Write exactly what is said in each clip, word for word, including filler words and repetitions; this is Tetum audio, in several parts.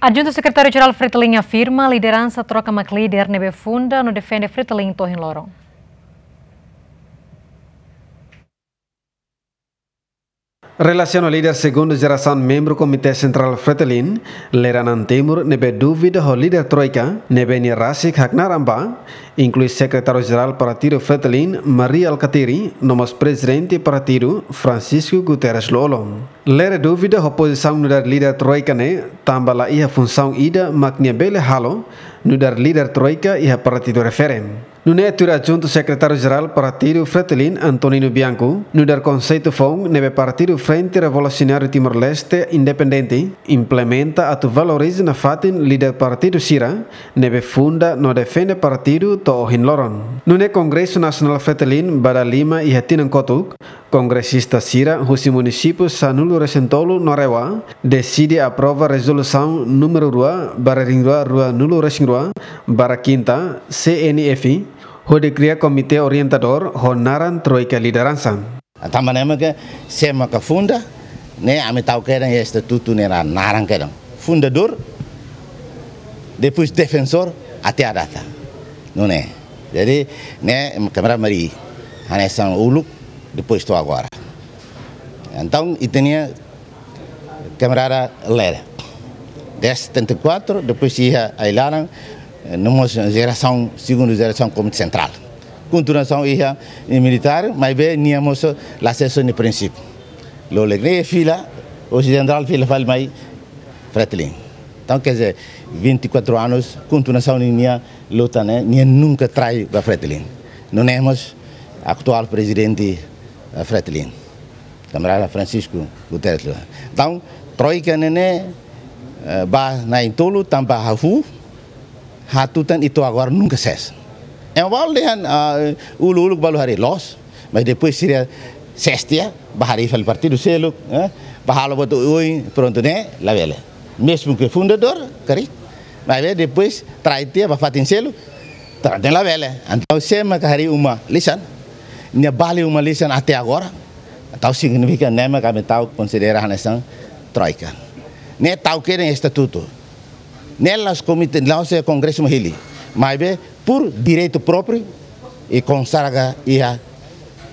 Adjuntu Sekretáriu Jerál Fretilin afirma lideransa troika mak líder ne'ebé funda no defende Fretilin to'o ohin loron. Relasiona líder segundu jerasaun membru Komité Sentrál Fretilin, Lere Anan Timur, ne'ebé dúvida ho líder troika, ne'ebé nia rasik haknaran ba, inklui Sekretáriu Jerál Partidu Fretilin, Mari Alkatiri, no mós Prezidente Partidu, Francisco Guterres Lú-Olo. Lere dúvida ho pozisaun nu'udar líder troika ne'e, tanba la iha funsaun ida mak nia bele halo nu'udar líder troika iha partidu refere. Nune'e tuir Adjuntu Sekretáriu Jerál Partidu Fretilin, Antonino Bianco, nu'udar konseitu foun ne'ebé Partidu Frente Revolusionáriu Timor-Leste Independente implementa atu valoriza nafatin líder partidu sira ne'ebé funda no defende partidu to'o ohin loron. Nune'e Kongresu Nasionál Fretilin ba dala lima iha tinan kotuk, kongresista sira husi munisípiu sanulu-resin-tolu no RAEOA deside aprova rezolusaun númeru rua barra rihun rua ruanulu-resin-rua barra kinta C N F, hodi kria komité orientadór ho naran Troika Lideransa. Tanba ne'e mak sé mak funda, ne'e ami tau kedan iha estatutu nia naran kedan. Fundadór, depois defensór, até à data. Nune'e. Jadi, ne'e kamarada Mari, hanesan uluk, depois to'o agora. Entaun, ita-nia kamarada Lere. Desde setenta e quatro, depois iha ai-laran, eh, no mós jerasaun, segundu jerasaun Komité Sentrál. Kontinuasaun iha, eh, militár, maibé nia mós la sesa nia prinsípiu. Loloos ne'e fila, o jenerál fila fali mai Fretilin. Entaun, quer dizer, vinte e quatro anos, kontinuasaun nia luta ne'e, nia nunka trai ba Fretilin. Nune'e mós atuál prezidente, eh, Fretilin. Kamarada Francisco Guterres Lú-Olo. Entaun, troika ne'e ne'e, eh, ba na'in-tolu tanba hahú, hatutan i to'o agora nunka sesa. Ema balu dehan, ah, uluk-uluk balu harii loos, mas depois sira sestia, ba harii fali partidu seluk, eh, ba halo buat oioin, prontu ne'e, labele. Mezmu ke fundadór, karik, maibé depois trai tiha ba fatin seluk, trai tiha labele. Entaun sé mak harii uma lisan, nia bali uma lisan até agora, entaun signifika ne'e mak ami tau konsidera hanesan troika. Ne'e tau kedan estatutu. Ne'e la'ós komité, la'ós kongresu mak hili. Maibé, por direitu própriu, i konsagra iha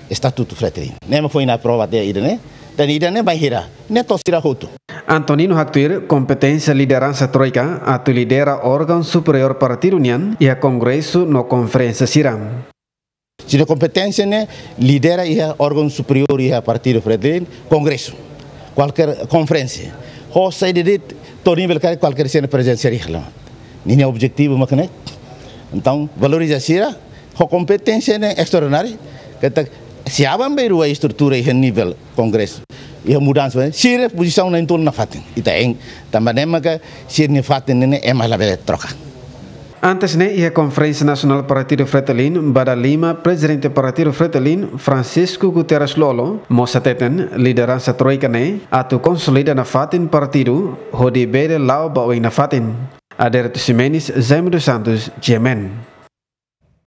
estatutu Fretilin. Ne'e mak foin aprova tiha ida-ne'e, tan ida-ne'e bainhira, ne'e to'o sira hotu. Antonino haktuir kompeténsia lideransa troika atu lidera órgaun superiór partidu nian iha kongresu no konferénsia sira. Sira kompeténsia ne'e lidera iha órgaun superiór iha partidu Fretilin, kongresu, kualkér konferénsia. Ho saida de'it, to'o nivel karik kualkér sira-nia prezensa iha ne'e. Ninia objetivu mak ne'e. Entaun, valoriza sira, ho kompeténsia ne'e estraordináriu, katak se aban-bainrua estrutura iha nivel kongresu, iha mudansa, sira pozisaun na'in-tolu nafatin. Ita hein, tanba ne'e maka sira-nia fatin ne'e ema labele troka. Antes ne'e iha Konferénsia Nasionál Partidu Fretilin, ba dala lima Prezidente Partidu Fretilin, Francisco Guterres Lú-Olo, mós hateten lideransa troika ne'e atu konsolida nafatin partidu, hodi bele la'o ba oin nafatin. Aderito Ximenes, Jaime dos Santos, G M N.